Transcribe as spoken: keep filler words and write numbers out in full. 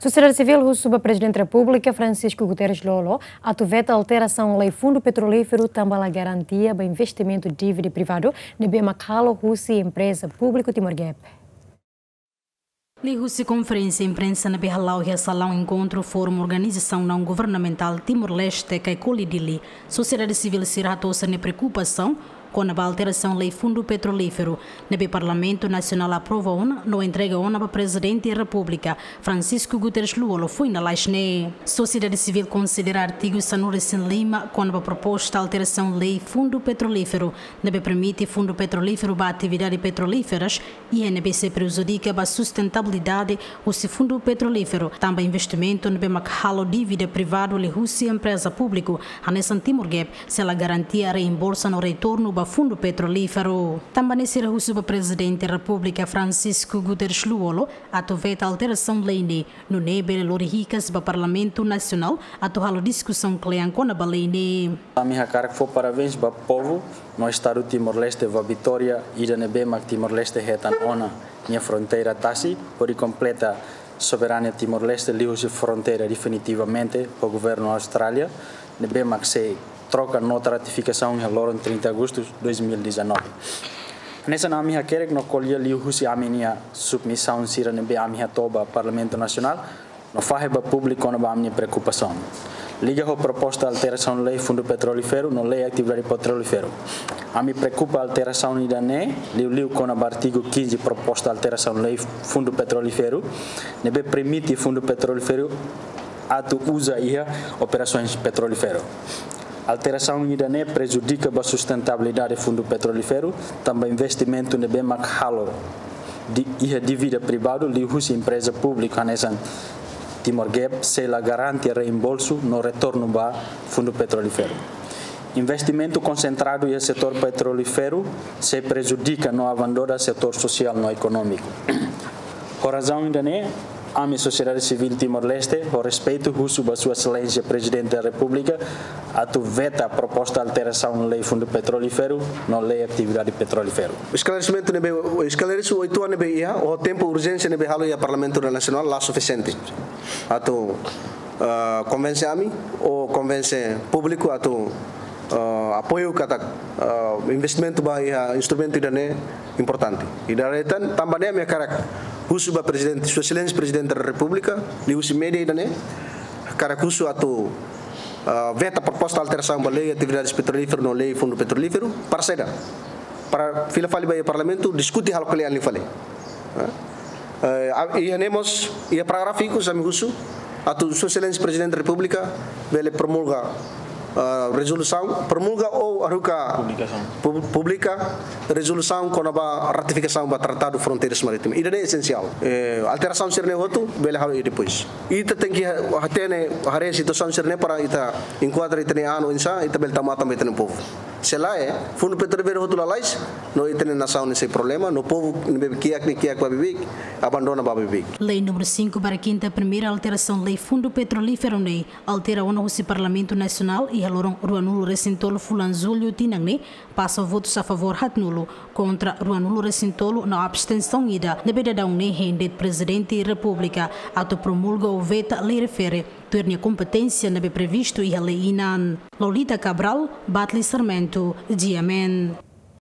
Sosiedade Sivíl husu ba Prezidente Repúblika Francisco Guterres Lú-Olo atu veta alterasaun lei Fundu Petrolíferu tanba la garantia ba investimentu dívida privadu ne'ebé mak halo husi empreza públiku Timor Gap. Liuhusi konferénsia imprensa ne'ebé hala'o iha salaun enkontru Fórum Organizasaun Naun Governamentál Timor-Leste, Caicoli, Dili, sosiedade sivíl sira hato'o sira-nia preokupasaun kona-ba alterasaun lei Fundu Petrolíferu ne'ebé Parlamentu Nasionál aprova ona no entrega ona ba Prezidente Repúblika Francisco Guterres Lú-Olo foin lalais ne'e. Sosiedade sivíl konsidera artigu sanulu-resin-lima kona-ba proposta alterasaun lei Fundu Petrolíferu ne'ebé permite fundu petrolíferu ba atividade petrolíferas, iha ne'ebé sei prejudika ba sustentabilidade husi fundu petrolíferu tanba investimentu ne'ebé mak halo dívida privadu liuhusi empreza públiku hanesan Timor Gap, sei la garantia reembolsa no retornu ba fundu petrolíferu. Tanba ne'e sira husu ba Prezidente Repúblika Francisco Guterres Lú-Olo atu veta alterasaun lei ne'e, nune'e bele lori hikas ba Parlamentu Nasionál atu halo diskusaun kle'an kona-ba lei ne'e. Ami hakarak fó parabéns ba povu no Estadu Timor-Leste, ba vitória ida ne'ebé mak Timor-Leste hetan ona nia fronteira tasi, hodi kompleta soberania Timor-Leste liuhusi fronteira definitivamente ho governu Austrália, ne'ebé mak sei troka nota ratifikasaun iha loron trinta Agostu dois mil e dezanove. Hanesan ami hakerek no ko'alia liuhusi ami-nia submisaun sira ne'ebé ami hato'o ba Parlamentu Nasionál, no fahe ba públiku kona-ba ami-nia preokupasaun liga ho proposta alterasaun lei Fundu Petrolíferu no lei atividade petrolíferu. Ami preokupa alterasaun ida-ne'e liuliu kona-ba artigu quinze, proposta alterasaun lei Fundu Petrolíferu, ne'ebé permite fundu petrolíferu atu uza iha operasaun petrolíferu. Alterasaun ida-ne'e prejudika ba sustentabilidade fundu petrolíferu, tanba investimentu ne'ebé mak halo di, iha dívida privadu liuhusi empreza públiku hanesan Timor Gap sei la garantia reembolsu no retornu ba fundu petrolíferu. Investimentu konsentradu iha setór petrolíferu sei prejudika no abandona setór sosiál no ekonómiku. Ho razaun ida-ne'e, ami sosiedade sivíl Timor-Leste, ho respeitu, husu ba Sua Exelénsia Prezidente da Repúblika atu veta proposta alterasaun lei Fundu Petrolíferu no lei atividade petrolíferu. Esklaresimentu ne'ebé, esklaresimentu oituan ne'ebé iha, ho tempu urjénsia ne'ebé halo iha Parlamentu Nasionál la sufisiente atu, ah, konvense ami ou konvense públiku atu, ah, apoiu katak, ah, investimentu ba iha instrumentu ida-ne'e importante. Ida-ne'e tan, tanba ne'e ami hakarak husu ba Prezidente, Sua Exelénsia Prezidente da Repúblika, liuhusi média ida-ne'e, hakarak husu atu, ah, veta proposta alterasaun ba lei atividades petrolíferu no lei Fundu Petrolíferu, para saida? Para fila fali ba iha Parlamentu, diskute halo kle'an liu fali. Ah, eh, a-, iha ne'e mós, iha parágrafu ikus ami husu atu Sua Exelénsia Prezidente da Repúblika bele promulga, ah, rezolusaun, promulga ou haruka publikasaun, pub-, publika rezolusaun kona-ba ratifikasaun ba Tratadu Fronteiras Marítimas. Ida-ne'e esensiál. Eh, alterasaun sira-ne'e hotu bele halo iha depois. Ita tenke ha-, hatene haree situasaun sira-ne'e para ita enkuadra ita-nia an oinsá, ita bele tau matan ba ita-nia povu. Se lae, Fundu Petrolíferu hotu lalais, no ita-nia nasaun ne'e sei problema, no povu ne'ebé kiak ne'e kiak ba beibeik, abandona ba beibeik. Lei númeru cinco barra quinta primeira alterasaun lei Fundu Petrolíferu ne'e altera ona husi Parlamentu Nasionál iha loron ruanulu-resin-tolu fulan Jullu tinan ne'e, pasa votus a favór haatnulu, kontra ruanulu-resin-tolu no abstensaun ida, ne'ebé daudaun ne'e hein de'it Prezidente Repúblika atu promulga ou veta lei refere tuir nia kompeténsia ne'ebé previstu iha lei inan. Lolita Cabral, Batli Sarmento, G M N.